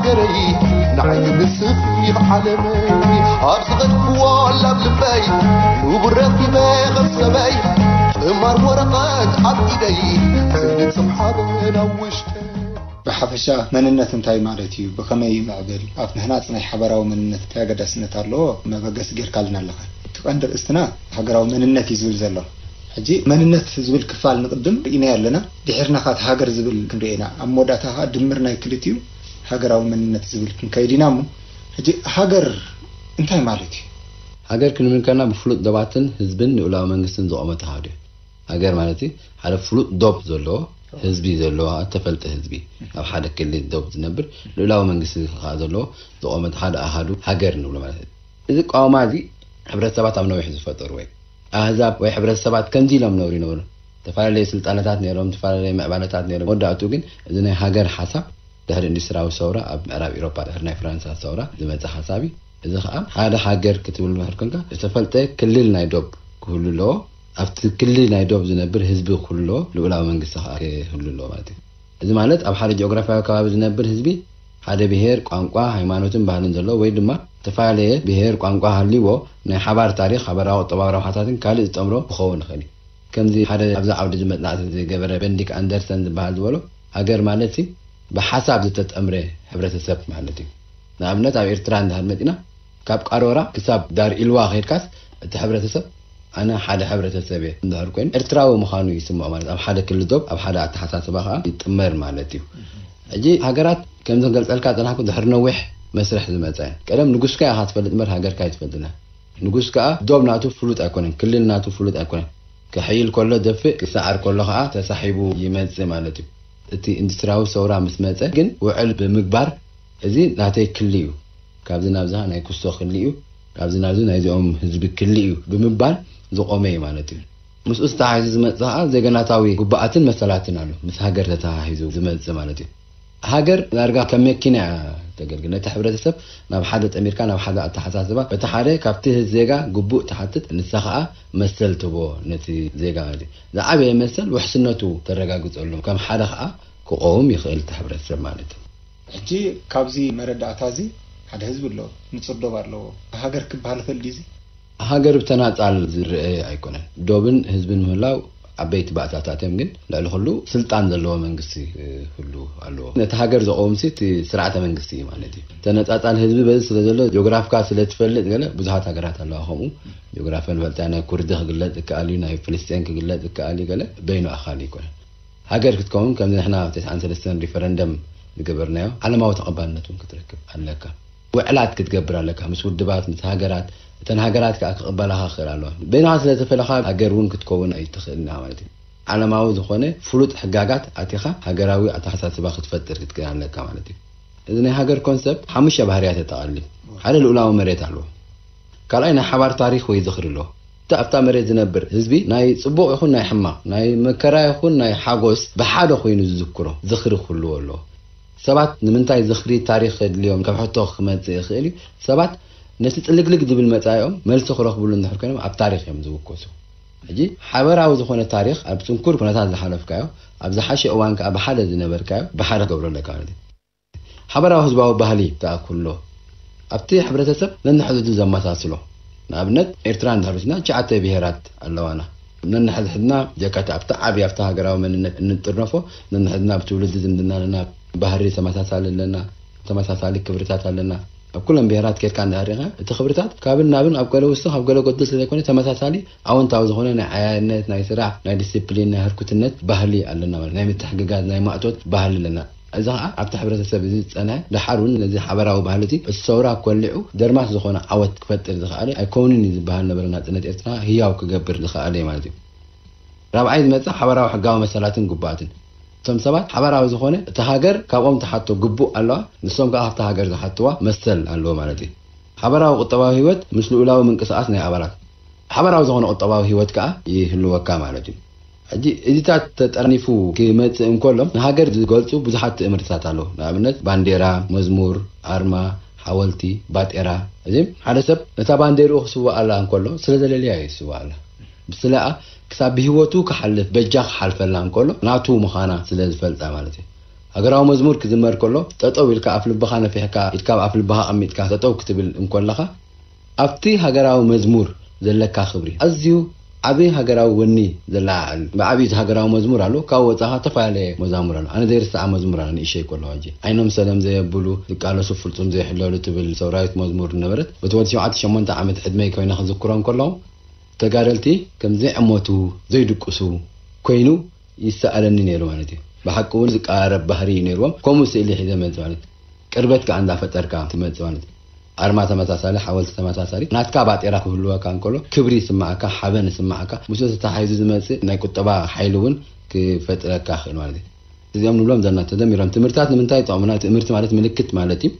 ንዓይ ንስኺ ዓለመይ ኣብ ዝኸድኩዎ ላብ ልበይ ንቡር ረኺበ ከም ሰበይ ጥማር ወረቐት ኣብ ኢደይ ዘይንጽም ሓበን ኣብ ውሽጠይ። ብሓፈሻ መንነት እንታይ ማለት እዩ? ብኸመይ ይምዕብል? ኣብ ምህናጽ ናይ ሓበራዊ መንነት እንታይ ኣገዳስነት ኣለዎ? መበገሲ ጌርካልና ኣለኻ። እቲ ቀንዲ ርእስትና ሃገራዊ መንነት እዩ ዝብል ዘሎ። ሕጂ መንነት ዝብል ክፋል ንቕድም ርኢናዮ ኣለና። ድሒርና ኻት ሃገር ዝብል ክንርኢ ኢና። ኣብ መወዳእታ ኸዓ ድምር ናይ ክልቲኡ ሃገራዊ መንነት ዝብል ክንከይድ ኢና እሞ፣ ሕጂ ሃገር እንታይ ማለት እዩ? ሃገር ክንብል ከለና ብፍሉጥ ዶባትን ህዝብን ልኡላዊ መንግስትን ዝቖመት ሃገር እዩ። ሃገር ማለት እዩ ሓደ ፍሉጥ ዶብ ዘለዎ ህዝቢ ዘለዎ፣ እተፈልጠ ህዝቢ ኣብ ሓደ ክልል ዶብ ዝነብር ልኡላዊ መንግስቲ ከዓ ዘለዎ ዝቖመት ሓደ ኣሃዱ ሃገር ንብሎ ማለት እዩ። እዚ ቋማ እዚ ሕብረተሰባት ኣብ ነዊሕ ዝፈጠሩ ወይ ኣህዛብ ወይ ሕብረተሰባት ከምዚ ኢሎም ነብሩ ይነበሩ። ዝተፈላለዩ ስልጣነታት ነይሮም፣ ዝተፈላለዩ ምዕባለታት ነይሮም። መወዳእቱ ግን እዚ ናይ ሃገር ሓሳብ ድሕሪ ኢንዱስትሪያዊ ሰውራ ኣብ ምዕራብ ኤውሮጳ ድሕሪ ናይ ፍራንሳ ሰውራ ዝመፀ ሓሳብ እዩ። እዚ ከዓ ሓደ ሃገር ክትብል ምሕር ኮንካ ዝተፈልጠ ክልል ናይ ዶብ ክህሉ ኣለዎ። ኣብቲ ክልል ናይ ዶብ ዝነብር ህዝቢ ክህሉ ኣለዎ። ልኡላዊ መንግስቲ ከዓ ክህሉ ኣለዎ ማለት እዩ። እዚ ማለት ኣብ ሓደ ጂኦግራፊያዊ ከባቢ ዝነብር ህዝቢ ሓደ ብሄር፣ ቋንቋ፣ ሃይማኖትን ባህልን ዘለዎ ወይ ድማ ዝተፈላለየ ብሄር፣ ቋንቋ ሃልይዎ ናይ ሓባር ታሪኽ፣ ሓበራዊ ቁጠባዊ ረብሓታትን ካልእ ዝጠምሮ ክኸውን ይኽእል እዩ። ከምዚ ሓደ ኣብዚ ዓውዲ እዚ መጽናዕቲ ዝገበረ በንዲክ ኣንደርሰን ዝበሃል ዝበሎ፣ ሃገር ማለት ሲ ብሓሳብ ዝተጠምረ ሕብረተሰብ ማለት እዩ። ንኣብነት ኣብ ኤርትራ እንድሕር መጺና ካብ ቃሮራ ክሳብ ዳር ኢልዋ ከይድካስ እቲ ሕብረተሰብ ኣነ ሓደ ሕብረተሰብ እየ እንድሕር ኮይኑ ኤርትራዊ ምዃኑ ይስምዖ ማለት ኣብ ሓደ ክሊ ዶብ ኣብ ሓደ ኣተሓሳስባ ከዓ ይጥመር ማለት እዩ። ሕጂ ሃገራት ከምዚ ክገልጸልካ ጸናሕኩ ድሕሪ ነዊሕ መስርሕ ዝመጻ እየን። ቀደም ንጉስካ ኢኻ ትፈልጥ እምበር ሃገርካ ኣይትፈልጥና። ንጉስ ከዓ ዶብ ናቱ ፍሉጥ ኣይኮነን፣ ክልል ናቱ ፍሉጥ ኣይኮነን። ክሕይል ከሎ ደፍእ፣ ክሰዓር ከሎ ከዓ ተሳሒቡ ይመጽእ ማለት እዩ። እቲ ኢንዱስትሪያዊ ሰውራ ምስ መጸ ግን ውዕል ብምግባር እዚ ናተይ ክሊ እዩ፣ ካብዚ ናብዚ ናይ ኩስቶ ክሊ እዩ፣ ካብዚ ናብዚ ናይዚኦም ህዝቢ ክሊ እዩ ብምባል ዝቆመ እዩ ማለት እዩ። ምስኡ ዝተሓሒዙ ዝመጽእ ከዓ ዜገናታዊ ጉባኣትን መሰላትን ኣሎ፣ ምስ ሃገር ተተሓሒዙ ዝመጽእ ማለት እዩ። ሃገር ዳርጋ ከም መኪና እያ ተገልግል። ነቲ ሕብረተሰብ ናብ ሓደ ጠሚርካ ናብ ሓደ ኣተሓሳስባ፣ በቲ ሓደ ካብቲ ዜጋ ግቡእ ትሓትት፣ ንሳ ከዓ መሰል ትቦ ነቲ ዜጋ ማለት እዩ። ዝዓበየ መሰል ውሕስነቱ ተረጋግጸሉ፣ ከም ሓደ ከዓ ክቆውም ይኽእል እቲ ሕብረተሰብ ማለት እዩ። ሕጂ ካብዚ መረዳእታ እዚ ሓደ ህዝቢ ኣለዎ፣ ንጹር ዶብ ኣለዎ። ሃገር ክበሃል ይኽእል ድዩ እዚ? ሃገር ብተናጻል ዝረአ ኣይኮነን። ዶብን ህዝብን ምህላው ዓበይቲ ባእታታት እዮም፣ ግን ልዕሊ ኩሉ ስልጣን ዘለዎ መንግስቲ ክህሉ ኣለዎ። ነቲ ሃገር ዘቐውምሲ እቲ ስርዓተ መንግስቲ እዩ ማለት እዩ። ተነጻጻል ህዝቢ በዚ ስለ ዘሎ ጂኦግራፍካ ስለ ትፈልጥ ገለ ብዙሓት ሃገራት ኣለዋ። ከምኡ ጂኦግራፊ ንፈልጣ ናይ ኩርዲ ክግለጽ ይከኣል እዩ፣ ናይ ፍልስጤን ክግለጽ ይከኣል እዩ። ገለ በይኑ ኣኻሊ ኣይኮነን። ሃገር ክትከውን ከምዚ ንሕና ተስዓን ሰለስተን ሪፈረንደም ዝገበርናዮ ዓለማዊ ተቐባልነት እውን ክትረክብ ኣለካ። ውዕላት ክትገብር ኣለካ ምስ ውድባት ምስ ሃገራት። እተን ሃገራት ከዓ ክቕበላኻ ክኽእል ኣለዋ። በይንኻ ስለ ተፈለኻ ሃገር እውን ክትከውን ኣይትኽእልና ማለት እዩ። ዓለማዊ ዝኾነ ፍሉጥ ሕጋጋት ኣቲኻ ሃገራዊ ኣተሓሳስባ ክትፈጥር ክትክእል ኣለካ ማለት እዩ። እዚ ናይ ሃገር ኮንሰፕት ሓሙሽተ ባህርያት የጠቓልል። ሓደ ልኡላዊ መሬት ኣለዎ። ካልኣይ ናይ ሓባር ታሪኽ ወይ ዝኽሪ ኣለዎ። እቲ ኣብታ መሬት ዝነብር ህዝቢ ናይ ጽቡቕ ይኹን ናይ ሕማቕ፣ ናይ መከራ ይኹን ናይ ሓጎስ ብሓደ ኮይኑ ዝዝክሮ ዝኽሪ ክህልዎ ኣለዎ። ሰባት ንምንታይ ዝኽሪ ታሪኽ ከድልዮም ካብ ሕቶ ክመጽእ ይኽእል እዩ። ሰባት ነቲ ጽልግልግ ዝብል መጻኢኦም መልሲ ክረኽብሉ እንድሕር ኮይኖም ኣብ ታሪኽ እዮም ዝውከሱ። ሕጂ ሓበራዊ ዝኾነ ታሪኽ ኣብ ጽንኩር ኩነታት ዝሓለፍካዮ ኣብ ዝሓሸ እዋን ከኣ ብሓደ ዝነበርካዮ ብሓደ ክገብሮ ኣለካ ማለት እዩ። ሓበራዊ ህዝባዊ ባህሊ ከኣ ክህሎ ኣብቲ ሕብረተሰብ ነንሕድሕዱ ዘመሳስሎ። ንኣብነት ኤርትራ እንድሕር ወሲድና ትሽዓተ ብሄራት ኣለዋና። ነንሕድሕድና ጀካቲ ኣብቲ ዓቢ ኣብቲ ሃገራዊ መንነት እንጥርነፎ ነንሕድና ብትውልዲ ዝምድና ኣለና፣ ባህሪ ተመሳሳሊ ኣለና፣ ተመሳሳሊ ክብርታት ኣለና። ኣብ ኩለን ብሄራት ኬድካ እንድሕር ሪኢኻ እቲ ክብርታት ካብን ናብን ኣብ ገለ ውስኽ ኣብ ገለ ጎድል ስለዘይኮነ ተመሳሳሊ ኣወንታዊ ዝኾነ ናይ ዓያነት፣ ናይ ስራሕ፣ ናይ ዲስፕሊን፣ ናይ ህርኩትነት ባህሊ ኣለና ማለት ናይ ምትሕግጋዝ ናይ ማእቶት ባህሊ ኣለና። እዚ ኸዓ ኣብቲ ሕብረተሰብ እዚ ዝጸንሐ ደሓር እውን ነዚ ሓበራዊ ባህሊ እዚ እቲ ሰውራ ኮሊዑ ደርማስ ዝኾነ ዓወት ክፈጥር ዝኸኣለ ኣይኮንን እዩ ዝበሃል ነበረ ናጽነት ኤርትራ ህያው ክገብር ዝኸኣለ እዩ ማለት እዩ። ራብዓይ ዝመጽእ ሓበራዊ ሕጋዊ መሰላትን ግቡኣትን። እቶም ሰባት ሓበራዊ ዝኾነ እቲ ሃገር ካብኦም ትሓቶ ግቡእ ኣለዋ፣ ንሶም ከዓ ካብቲ ሃገር ዝሓትዋ መሰል ኣለዎ ማለት እዩ። ሓበራዊ ቁጠባዊ ህይወት ምስ ልኡላዊ ምንቅስቓስ ናይ ኣባላት ሓበራዊ ዝኾነ ቁጠባዊ ህይወት ከዓ ይህልወካ ማለት እዩ። ሕጂ እዚታት ተጠርኒፉ ክመጽእ እንከሎ ንሃገር ዝገልጹ ብዙሓት ትእምርትታት ኣለዉ። ንኣብነት ባንዴራ፣ መዝሙር፣ ኣርማ፣ ሓወልቲ፣ ባጤራ። እዚ ሓደ ሰብ ነታ ባንዴርኡ ክስውኣላ እንከሎ ስለ ዘለልያ እዩ ዝስውኣላ። ብስለኣ ክሳብ ብህይወቱ ክሓልፍ በጃ ክሓልፈላ እንከሎ ናቱ ምዃና ስለ ዝፈልጣ ማለት እዩ። ሃገራዊ መዝሙር ክዝመር ከሎ፣ ጠጠው ኢልካ ኣፍ ልብኻ ነፊሕካ፣ ኢድካ ኣብ ኣፍ ልብኻ ኣቐሚጥካ ጠጠው ክትብል እንኮለኻ፣ ኣብቲ ሃገራዊ መዝሙር ዘለካ ክብሪ፣ ኣዝዩ ዓቢ ሃገራዊ ወኒ ዘለዓዕል። ብዓቢኡ እቲ ሃገራዊ መዝሙር ኣሎ፣ ካብ ወጻኻ ተፈላለየ መዛሙር ኣሎ። ኣነ ዘይርስዓ መዝሙር ኣሎ፣ ንእሸይ ከለኹ ሕጂ። ዓይኖም ሰለም ዘየብሉ፣ ዝቃለሱ ፍጹም ዘይሕለሉ ትብል ሰውራዊት መዝሙር ነበረት። በቲ ወዲ ሸውዓተ ሸሞንተ ዓመት ዕድመይ ኮይነ ክዝክሮም ከለኹ፣ ተጋደልቲ ከም ዘይዕሞቱ፣ ዘይድቅሱ ኮይኑ ይሰኣለኒ ነይሩ ማለት እዩ። ብሓቂ እውን ዝቀራረብ ባህሪ እዩ ነይርዎም። ከምኡ ስእሊ ሒዘ መጽእ ማለት እዩ። ቅርበት ከኣ እንዳፈጠርካ ትመጽእ ማለት እዩ። ኣርማ ተመሳሳሊ፣ ሓወልቲ ተመሳሳሊ፣ ናትካ ባጤራ ክህልወካ እንከሎ ክብሪ ይስማዓካ፣ ሓበን ይስማዓካ። ምስኡ ተተሓሒዙ ዝመጽእ ናይ ቁጠባ ሓይሊ እውን ክፈጥረካ ይኽእል ማለት እዩ። እዚኦም ንብሎም ዘለና ተደሚሮም። ትምህርትታት ንምንታይ ይጠቕሙና? ትምህርቲ ማለት ምልክት ማለት እዩ።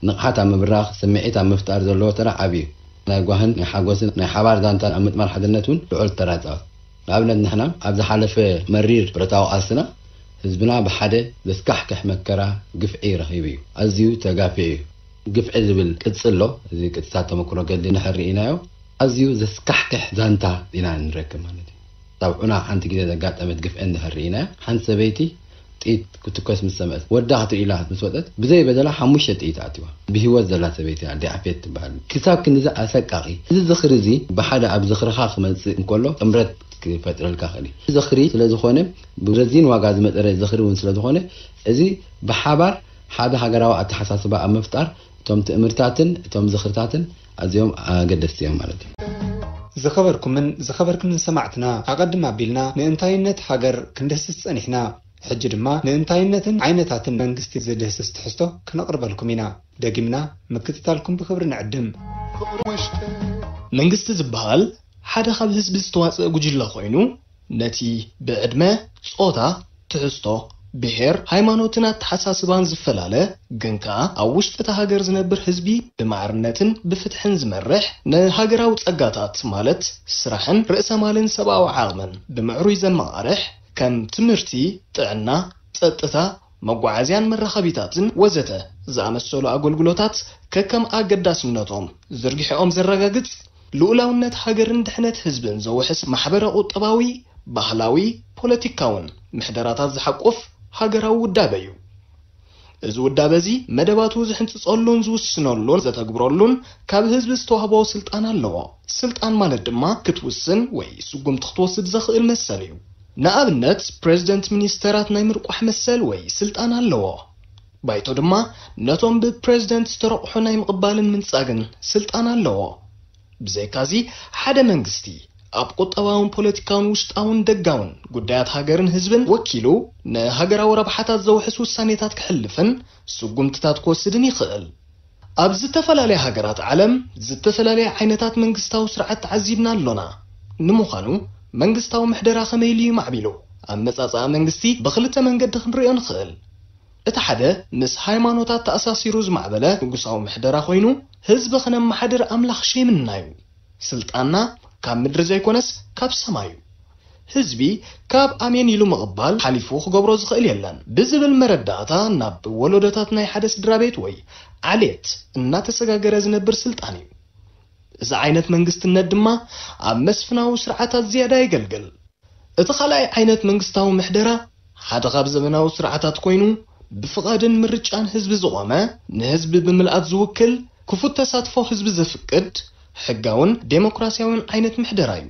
ንቕሓት ኣብ ምብራኽ፣ ስምዒት ኣብ ምፍጣር ዘለዎ ተራ ዓቢ እዩ። ናይ ጓህን ናይ ሓጎስን ናይ ሓባር ዛንታን ኣብ ምጥማር ሓድነት እውን ልዑል ተራ ይጻወት። ንኣብነት ንሕና ኣብ ዝሓለፈ መሪር ብረታዊ ቃልስና ህዝብና ብሓደ ዘስካሕክሕ መከራ፣ ግፍዒ ረኺቡ እዩ። ኣዝዩ ተጋፊዑ እዩ። ግፍዒ ዝብል ቅጺ ኣሎ። እዚ ቅጺታት ተመክሮ ገድሊ እንድሕር ርኢናዮ፣ ኣዝዩ ዘስካሕክሕ ዛንታ ኢና ንረክብ ማለት እዩ። ኣብ ዑና ሓንቲ ግዜ ዘጋጠመት ግፍዒ እንድሕር ርኢናዮ፣ ሓንቲ ሰበይቲ ጥይት ክትኮስ ምስ ሰምዐት፣ ወዳ ክትርኢ ኢላ ምስ ወጸት፣ ብዘይ በደላ ሓሙሽተ ጥይት ኣትዋ። ብህይወት ዘላ ሰበይቲ እያ፣ ዲዓፌት ትበሃል። ክሳብ ክንድዚ ኣሰቃቒ። እዚ ዝኽሪ እዚ ብሓደ ኣብ ዝኽርኻ ክመጽእ እንከሎ ጥምረት ክፈጥረልካ ክእል እዩ። ዝኽሪ ስለ ዝኾነ፣ ብረዚን ዋጋ ዝመጠረ ዝኽሪ እውን ስለ ዝኾነ፣ እዚ ብሓባር ሓደ ሃገራዊ ኣተሓሳስባ ኣብ ምፍጣር እቶም ትእምርታትን እቶም ዝኽርታትን ኣዝዮም ኣገደስቲ እዮም ማለት እዩ። ዝኸበርኩምን ዝኸበርክንን ሰማዕትና፣ ኣቐድም ኣቢልና ንእንታይነት ሃገር ክንድህስስ ጸኒሕና። ሕጂ ድማ ንእንታይነትን ዓይነታትን መንግስቲ ዝድህስስ ትሕዝቶ ክነቕርበልኩም ኢና። ደጊምና ምክትታልኩም ብኽብሪ ንዕድም። መንግስቲ ዝበሃል ሓደ ካብ ህዝቢ ዝተዋጽአ ጉጅለ ኮይኑ፣ ነቲ ብዕድመ፣ ጾታ፣ ትሕዝቶ፣ ብሄር፣ ሃይማኖትን ኣተሓሳስባን ዝፈላለ፣ ግን ከኣ ኣብ ውሽጢ እታ ሃገር ዝነብር ህዝቢ ብማዕርነትን ብፍትሕን ዝመርሕ፣ ንሃገራዊ ጸጋታት ማለት ስራሕን ርእሰ ማልን ሰብኣዊ ዓቕምን ብምዕሩይ ዘመቓርሕ፣ ከም ትምህርቲ፣ ጥዕና፣ ጸጥታ፣ መጓዓዝያን መራኸቢታትን ወዘተ ዝኣመሰሉ ኣገልግሎታት ከከም ኣገዳስነቶም ዝርግሕኦም ዘረጋግጽ፣ ልኡላውነት ሃገርን ድሕነት ህዝብን ዘውሕስ ማሕበረ ቁጠባዊ፣ ባህላዊ፣ ፖለቲካውን ምሕደራታት ዝሓቁፍ ሃገራዊ ውዳበ እዩ። እዚ ውዳበ እዚ መደባቱ ዝሕንጽጸሉን ዝውስነሉን ዘተግብረሉን ካብ ህዝቢ ዝተዋህቦ ስልጣን ኣለዎ። ስልጣን ማለት ድማ ክትውስን ወይ ስጉምቲ ክትወስድ ዘኽእል መሰል እዩ። ንኣብነት፣ ፕሬዝደንት ሚኒስተራት ናይ ምርቋሕ መሰል ወይ ስልጣን ኣለዎ። ባይቶ ድማ ነቶም ብፕሬዝደንት ዝተረቑሑ ናይ ምቕባልን ምንጻግን ስልጣን ኣለዎ። ብዘይካዚ፣ ሓደ መንግስቲ ኣብ ቁጠባውን ፖለቲካውን ውሽጣውን ደጋውን ጉዳያት ሃገርን ህዝብን ወኪሉ ንሃገራዊ ረብሓታት ዘውሕስ ውሳኔታት ክሕልፍን ስጉምትታት ክወስድን ይኽእል። ኣብ ዝተፈላለያ ሃገራት ዓለም ዝተፈላለያ ዓይነታት መንግስታዊ ስርዓት ተዓዚብና ኣሎና። ንምዃኑ፣ መንግስታዊ ምሕደራ ከመይ ኢሉ እዩ ማዕቢሉ? ኣመጻጽኣ መንግስቲ ብኽልተ መንገዲ ክንርእዮ ንኽእል። እቲ ሓደ ምስ ሃይማኖታት ተኣሳሲሩ ዝማዕበለ ንጉሳዊ ምሕደራ ኮይኑ፣ ህዝቢ ከነመሓድር ኣምላኽ ሸይምና እዩ። ስልጣንና ካብ ምድሪ ዘይኮነስ ካብ ሰማይ እዩ። ህዝቢ ካብ ኣሜን ኢሉ ምቕባል ሓሊፉ ክገብሮ ዝኽእል የለን ብዝብል መረዳእታ ናብ ወለዶታት ናይ ሓደ ስድራ ቤት ወይ ዓሌት እናተሰጋገረ ዝነብር ስልጣን እዩ። እዚ ዓይነት መንግስትነት ድማ ኣብ መስፍናዊ ስርዓታት ዝያዳ የገልግል። እቲ ካልኣይ ዓይነት መንግስታዊ ምሕደራ ሓደ ካብ ዘመናዊ ስርዓታት ኮይኑ፣ ብፍቓድን ምርጫን ህዝቢ ዝቖመ፣ ንህዝቢ ብምልኣት ዝውክል፣ ክፉት ተሳትፎ ህዝቢ ዘፍቅድ፣ ሕጋውን ዴሞክራሲያውን ዓይነት ምሕደራ እዩ።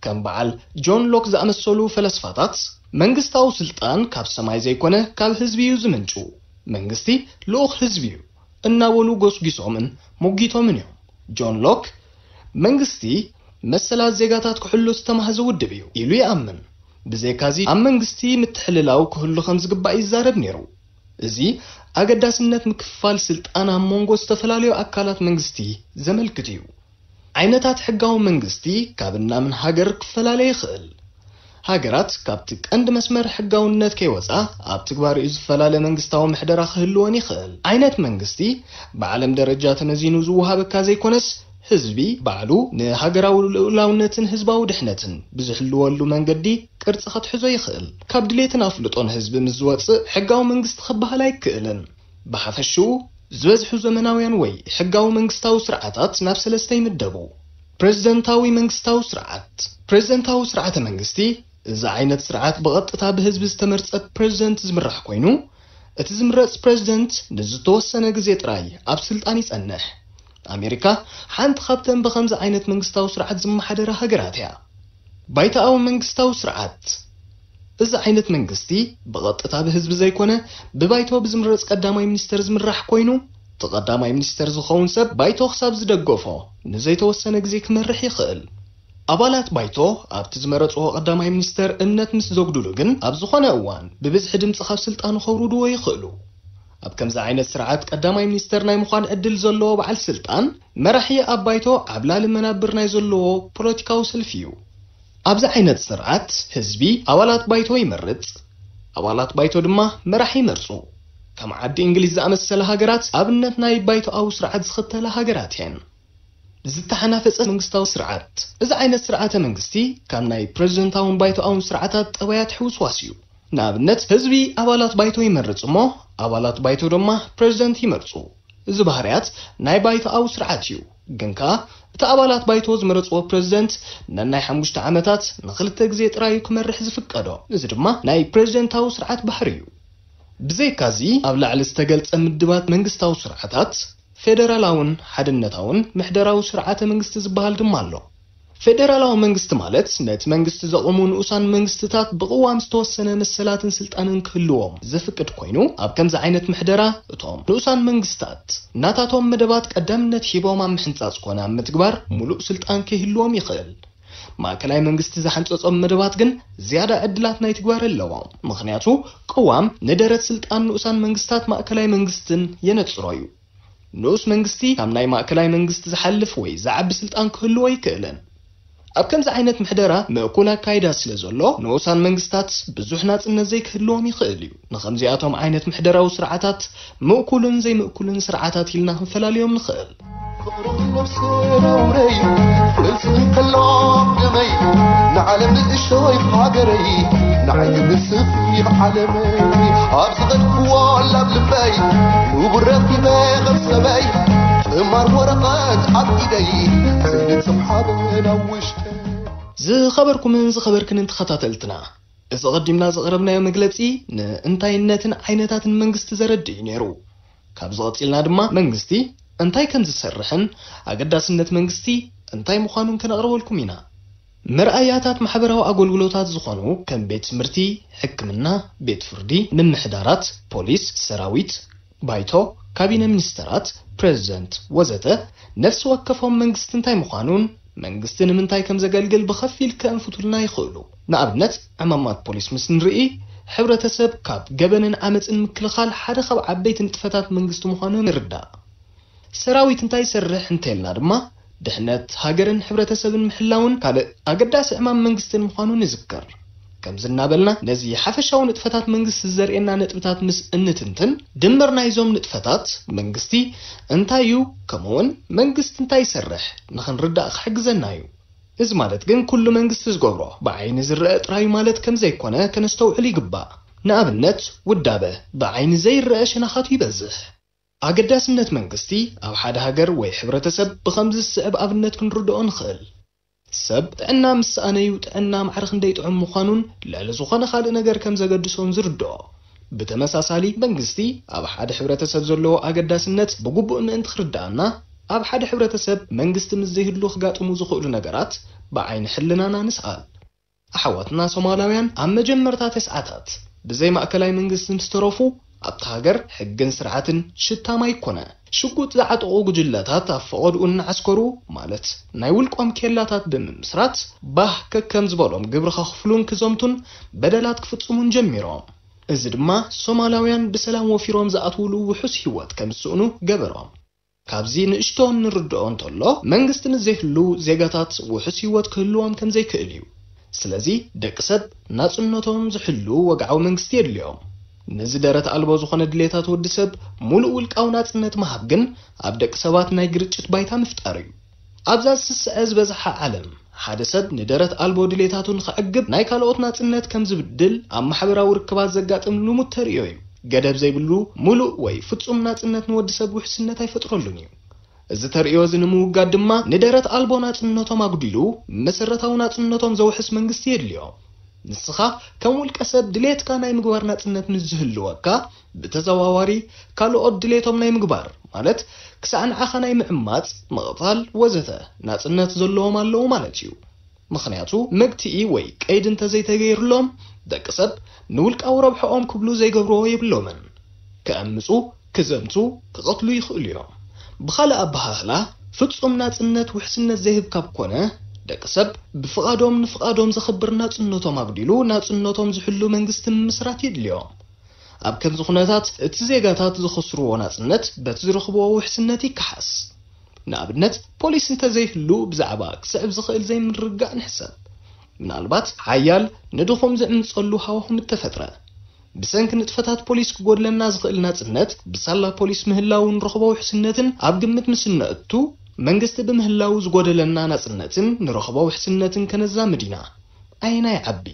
ከም በዓል ጆን ሎክ ዝኣመሰሉ ፈለስፋታት፣ መንግስታዊ ስልጣን ካብ ሰማይ ዘይኮነ ካብ ህዝቢ እዩ ዝምንጩ። መንግስቲ ልኡኽ ህዝቢ እዩ እናበሉ ጎስጒሶምን ሞጊቶምን እዮም። ጆን ሎክ፣ መንግስቲ መሰላት ዜጋታት ክሕሉ ዝተማህዘ ውድብ እዩ ኢሉ ይኣምን። ብዘይካዚ ኣብ መንግስቲ ምትሕልላው ክህሉ ከም ዝግባእ ይዛረብ ነይሩ። እዚ ኣገዳስነት ምክፍፋል ስልጣን ኣብ መንጎ ዝተፈላለዩ ኣካላት መንግስቲ ዘመልክት እዩ። ዓይነታት ሕጋዊ መንግስቲ ካብ እናምን ሃገር ክፈላለ ይኽእል። ሃገራት ካብቲ ቀንዲ መስመር ሕጋውነት ከይወጻ ኣብ ትግባርኡ ዝፈላለ መንግስታዊ ምሕደራ ክህልወን ይኽእል። ዓይነት መንግስቲ ብዓለም ደረጃ ተመዚኑ ዝወሃበካ ዘይኮነስ፣ ህዝቢ ባዕሉ ንሃገራዊ ልኡላውነትን ህዝባዊ ድሕነትን ብዝሕልወሉ መንገዲ ቅርጺ ከትሕዞ ይኽእል። ካብ ድሌትን ኣፍልጦን ህዝቢ ምስ ዝወጽእ ሕጋዊ መንግስቲ ክበሃል ኣይክእልን። ብሓፈሽኡ፣ ዝበዝሑ ዘመናውያን ወይ ሕጋዊ መንግስታዊ ስርዓታት ናብ ሰለስተ ይምደቡ። ፕሬዝደንታዊ መንግስታዊ ስርዓት። ፕሬዝደንታዊ ስርዓተ መንግስቲ፣ እዚ ዓይነት ስርዓት ብቐጥታ ብህዝቢ ዝተመርጸ ፕሬዝደንት ዝምራሕ ኮይኑ፣ እቲ ዝምረጽ ፕሬዝደንት ንዝተወሰነ ግዜ ጥራይ ኣብ ስልጣን ይጸንሕ። ኣሜሪካ ሓንቲ ካብተን ብኸምዚ ዓይነት መንግስታዊ ስርዓት ዝመሓደራ ሃገራት እያ። ባይቶኣዊ መንግስታዊ ስርዓት። እዚ ዓይነት መንግስቲ ብቐጥታ ብህዝቢ ዘይኮነ፣ ብባይቶ ብዝምረጽ ቀዳማይ ሚኒስተር ዝምራሕ ኮይኑ፣ እቲ ቀዳማይ ሚኒስተር ዝኸውን ሰብ ባይቶ ክሳብ ዝደገፎ ንዘይተወሰነ ግዜ ክመርሕ ይኽእል። ኣባላት ባይቶ ኣብቲ ዝመረጽዎ ቀዳማይ ሚኒስተር እምነት ምስ ዘጉድሉ ግን፣ ኣብ ዝኾነ እዋን ብብዝሒ ድምጺ ካብ ስልጣኑ ከውርድዎ ይኽእሉ። ኣብ ከምዚ ዓይነት ስርዓት ቀዳማይ ሚኒስተር ናይ ምዃን ዕድል ዘለዎ በዓል ስልጣን መራሒ ኣብ ባይቶ ዓብላሊ መናብር ናይ ዘለዎ ፖለቲካዊ ሰልፊ እዩ። ኣብዚ ዓይነት ስርዓት ህዝቢ ኣባላት ባይቶ ይመርጽ፣ ኣባላት ባይቶ ድማ መራሒ ይመርጹ። ከም ዓዲ እንግሊዝ ዝኣመሰለ ሃገራት ኣብነት ናይ ባይቶኣዊ ስርዓት ዝኽተላ ሃገራት እየን። ዝተሓናፈጸ መንግስታዊ ስርዓት። እዚ ዓይነት ስርዓተ መንግስቲ ካብ ናይ ፕሬዝደንታውን ባይቶኣውን ስርዓታት ጠባያት ሕውስዋስ እዩ። ንኣብነት፣ ህዝቢ ኣባላት ባይቶ ይመርጽ እሞ፣ ኣባላት ባይቶ ድማ ፕሬዝደንት ይመርጹ። እዚ ባህርያት ናይ ባይቶኣዊ ስርዓት እዩ። ግን ከኣ፣ እቲ ኣባላት ባይቶ ዝመረጽዎ ፕሬዝደንት ነናይ ሓሙሽተ ዓመታት ንኽልተ ግዜ ጥራይ እዩ ክመርሕ ዝፍቀዶ። እዚ ድማ ናይ ፕሬዝደንታዊ ስርዓት ባህሪ እዩ። ብዘይካዚ፣ ኣብ ላዕሊ ዝተገልጸ ምድባት መንግስታዊ ስርዓታት፣ ፌደራላውን ሓድነታውን ምሕደራዊ ስርዓተ መንግስቲ ዝበሃል ድማ ኣሎ። ፌደራላዊ መንግስቲ ማለት ነቲ መንግስቲ ዘቑሙ ንኡሳን መንግስትታት ብቕዋም ዝተወሰነ መሰላትን ስልጣንን ክህልዎም ዘፍቅድ ኮይኑ፣ ኣብ ከምዚ ዓይነት ምሕደራ እቶም ንኡሳን መንግስታት ናታቶም መደባት ቀዳምነት ሂቦም ኣብ ምሕንጻጽ ኮነ ኣብ ምትግባር ሙሉእ ስልጣን ክህልዎም ይኽእል። ማእከላይ መንግስቲ ዝሓንጸጾም መደባት ግን ዝያዳ ዕድላት ናይ ትግባረ ኣለዎም። ምኽንያቱ ቅዋም ንደረት ስልጣን ንኡሳን መንግስታት ማእከላይ መንግስትን የነጽሮ እዩ። ንኡስ መንግስቲ ካብ ናይ ማእከላይ መንግስቲ ዝሓልፍ ወይ ዝዓቢ ስልጣን ክህልዎ ኣይክእልን። ኣብ ከምዚ ዓይነት ምሕደራ ምእኩል ኣካይዳ ስለ ዘሎ፣ ንኡሳን መንግስታት ብዙሕ ናጽነት ዘይክህልዎም ይኽእል እዩ። ንኸምዚኣቶም ዓይነት ምሕደራዊ ስርዓታት ምእኩልን ዘይምእኩልን ስርዓታት ኢልና ክንፈላልዮም ንኽእል። ፍቕሪ ነብሲ ነውረይ፣ ፍልፍል ከሎ ደመይ፣ ንዓለም ንእሽቶይ ሃገረይ፣ ንዓይ ንስኺ ዓለመይ። ኣብ ዝኸድክዎ ላብ ልበይ፣ ንቡር ረኺበ ከም ሰበይ፣ ጥማር ወረቐት ኣብ ኢደይ፣ ዘይንጽም ሓበን ኣብ ውሽጠይ። ዝኸበርኩምን ዝኸበርክንን ተኸታተልትና፣ እዚ ቀዲምና ዘቕረብናዮ መግለጺ ንእንታይነትን ዓይነታትን መንግስቲ ዘረድእ እዩ ነይሩ። ካብዚ ቀጺልና ድማ መንግስቲ እንታይ ከም ዝሰርሕን ኣገዳስነት መንግስቲ እንታይ ምዃኑን ከነቕርበልኩም ኢና። መርኣያታት ማሕበራዊ ኣገልግሎታት ዝኾኑ ከም ቤት ትምህርቲ፣ ሕክምና፣ ቤት ፍርዲ፣ ምምሕዳራት፣ ፖሊስ፣ ሰራዊት፣ ባይቶ፣ ካቢነ ሚኒስተራት፣ ፕሬዝደንት ወዘተ ነፍሲ ወከፎም መንግስቲ እንታይ ምዃኑን መንግስቲ ንምንታይ ከም ዘገልግል ብኸፊል ከእንፍቱልና ይኽእሉ። ንኣብነት፣ ዕማማት ፖሊስ ምስ ንርኢ፣ ሕብረተሰብ ካብ ገበንን ዓመፅን ምክልኻል ሓደ ካብ ዓበይቲ ንጥፈታት መንግስቲ ምዃኑ ንርዳእ። ሰራዊት እንታይ ይሰርሕ እንተልና ድማ፣ ድሕነት ሃገርን ሕብረተሰብን ምሕላውን ካልእ ኣገዳሲ ዕማም መንግስትን ምዃኑ ንዝክር። ከምዚ እናበልና ነዚ ሓፈሻዊ ንጥፈታት መንግስቲ ዘርእየና ነጥብታት ምስ እንትንትን፣ ድምር ናይዞም ንጥፈታት መንግስቲ እንታይ እዩ፣ ከምኡውን መንግስቲ እንታይ ይሰርሕ ንኽንርዳእ ክሕግዘና እዩ። እዚ ማለት ግን ኩሉ መንግስቲ ዝገብሮ ብዓይኒ ዝረአ ጥራይ ማለት ከም ዘይኮነ ከነስተውዕል ይግባእ። ንኣብነት፣ ውዳበ ብዓይኒ ዘይረአ ሸነኻቱ ይበዝሕ። ኣገዳስነት መንግስቲ ኣብ ሓደ ሃገር ወይ ሕብረተሰብ ብኸምዚ ዝስዕብ ኣብነት ክንርድኦ ንኽእል። ሰብ ጥዕና ምስ ሰኣነዩ ጥዕና ማዕረ ክንደይ ጥዑም ምዃኑን ልዕሊ ዝኾነ ካልእ ነገር ከም ዘገድሶን ዝርድኦ። ብተመሳሳሊ፣ መንግስቲ ኣብ ሓደ ሕብረተሰብ ዘለዎ ኣገዳስነት ብግቡእ ምእንቲ ክርድኣና፣ ኣብ ሓደ ሕብረተሰብ መንግስቲ ምስ ዘይህሉ ክጋጥሙ ዝኽእሉ ነገራት ብዓይኒ ሕልናና ንስኣል። ኣሕዋትና ሶማላውያን ኣብ መጀመርታ ተስዓታት ብዘይ ማእከላይ መንግስቲ ምስ ተረፉ፣ ኣብታ ሃገር ሕግን ስርዓትን ሽታም ኣይኮነ። ሽጉጥ ዝዓጠቑ ጉጅለታት ኣብ ፈቐድኡ እናዓስከሩ፣ ማለት ናይ ውልቆም ኬላታት ብምምስራት፣ ባህ ከከም ዝበሎም ግብሪ ከኽፍሉን ክዘምቱን በደላት ክፍጽሙን ጀሚሮም። እዚ ድማ ሶማላውያን ብሰላም ወፊሮም ዝኣትውሉ ውሑስ ህይወት ከም ዝስእኑ ገበሮም። ካብዚ ንእሽቶ እንርድኦ እንተሎ፣ መንግስቲ ምስ ዘይህሉ ዜጋታት ውሑስ ህይወት ክህልዎም ከም ዘይክእል እዩ። ስለዚ ደቂ ሰብ ናጽነቶም ዝሕሉ ወግዓዊ መንግስቲ የድልዮም። ነዚ ደረት ኣልቦ ዝኾነ ድሌታት ወዲ ሰብ ሙሉእ ውልቃዊ ናጽነት ምሃብ ግን ኣብ ደቂ ሰባት ናይ ግርጭት ባይታ ምፍጣር እዩ። ኣብዛ ዝስስዐ ዝበዝሓ ዓለም፣ ሓደ ሰብ ንደረት ኣልቦ ድሌታቱ ንኸዕግብ ናይ ካልኦት ናጽነት ከም ዝብድል ኣብ ማሕበራዊ ርክባት ዘጋጥም ልሙድ ተርእዮ እዩ። ገደብ ዘይብሉ ሙሉእ ወይ ፍጹም ናጽነት ንወዲ ሰብ ውሕስነት ኣይፈጥረሉን እዩ። እዚ ተርእዮ እዚ ንምውጋድ ድማ ንደረት ኣልቦ ናጽነቶም ኣጉዲሉ መሰረታዊ ናጽነቶም ዘውሕስ መንግስቲ የድልዮም። ንስኻ ከም ውልቀ ሰብ ድሌትካ ናይ ምግባር ናጽነት ምስ ዝህልወካ፣ ብተዘዋዋሪ ካልኦት ድሌቶም ናይ ምግባር፣ ማለት ክሳዕ ንዓኻ ናይ ምዕማጽ፣ ምቕታል ወዘተ ናጽነት ዘለዎም ኣለዉ ማለት እዩ። ምኽንያቱ መግትኢ ወይ ቀይዲ እንተዘይተገይርሎም፣ ደቂ ሰብ ንውልቃዊ ረብሐኦም ክብሉ ዘይገብርዎ የብሎምን። ክዕምጹ፣ ክዘምቱ፣ ክቐትሉ ይኽእሉ እዮም። ብኻልእ ኣበሃህላ፣ ፍጹም ናጽነት ውሕስነት ዘይህብ ካብ ኮነ፣ ደቂ ሰብ ብፍቓዶም ንፍቓዶም ዘኽብር ናጽነቶም ኣጉዲሉ ናጽነቶም ዝሕሉ መንግስቲ ምምስራት የድልዮም። ኣብ ከምዚ ኩነታት እቲ ዜጋታት ዝኸስርዎ ናጽነት በቲ ዝረኽብዎ ውሕስነት ይከሓስ። ንኣብነት ፖሊስ እንተዘይህሉ ብዛዕባ ክስዕብ ዝኽእል ዘይምርግጋእ ንሕሰብ። ምናልባት ሓያል ንድኹም ዝዕምጸሉ ሃዋሁ ምተፈጥረ። ብሰንኪ ንጥፈታት ፖሊስ ክጎድለና ዝኽእል ናጽነት ብሳላ ፖሊስ ምህላው ንረኽቦ ውሕስነትን ኣብ ግምት ምስ እነእቱ መንግስቲ ብምህላው ዝጎደለና ናጽነትን ንረኽቦ ውሕስነትን ከነዛምድ ኢና። ኣየናይ ዓቢ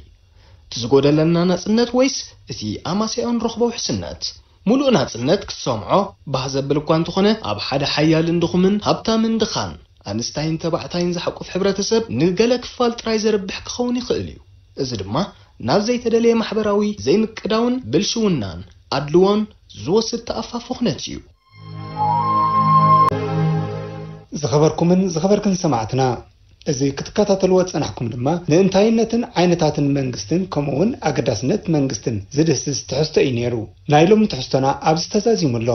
እቲ ዝጎደለና ናጽነት ወይስ እቲ ኣማሲያኡ ንረኽቦ ውሕስነት? ሙሉእ ናጽነት ክትሰምዖ ባህ ዘብል እኳ እንተኾነ፣ ኣብ ሓደ ሓያልን ድኹምን፣ ሃብታምን ድኻን፣ ኣንስታይን ተባዕታይን ዝሓቁፍ ሕብረተሰብ ንገለ ክፋል ጥራይ ዘርብሕ ክኸውን ይኽእል እዩ። እዚ ድማ ናብ ዘይተደለየ ማሕበራዊ ዘይምቅዳውን ብልሽውናን ኣድልዎን ዝወስድ ተኣፋፊ ኩነት እዩ። ዝኸበርኩምን ዝኸበርክን ሰማዕትና፣ እዚ ክትከታተልዎ ዝጸናሕኩም ድማ ንእንታይነትን ዓይነታትን መንግስትን ከምኡ እውን ኣገዳስነት መንግስትን ዝድህስስ ትሕዝቶ እዩ ነይሩ። ናይ ሎሚ ትሕዝቶና ኣብዚ ተዛዚሙ ኣሎ።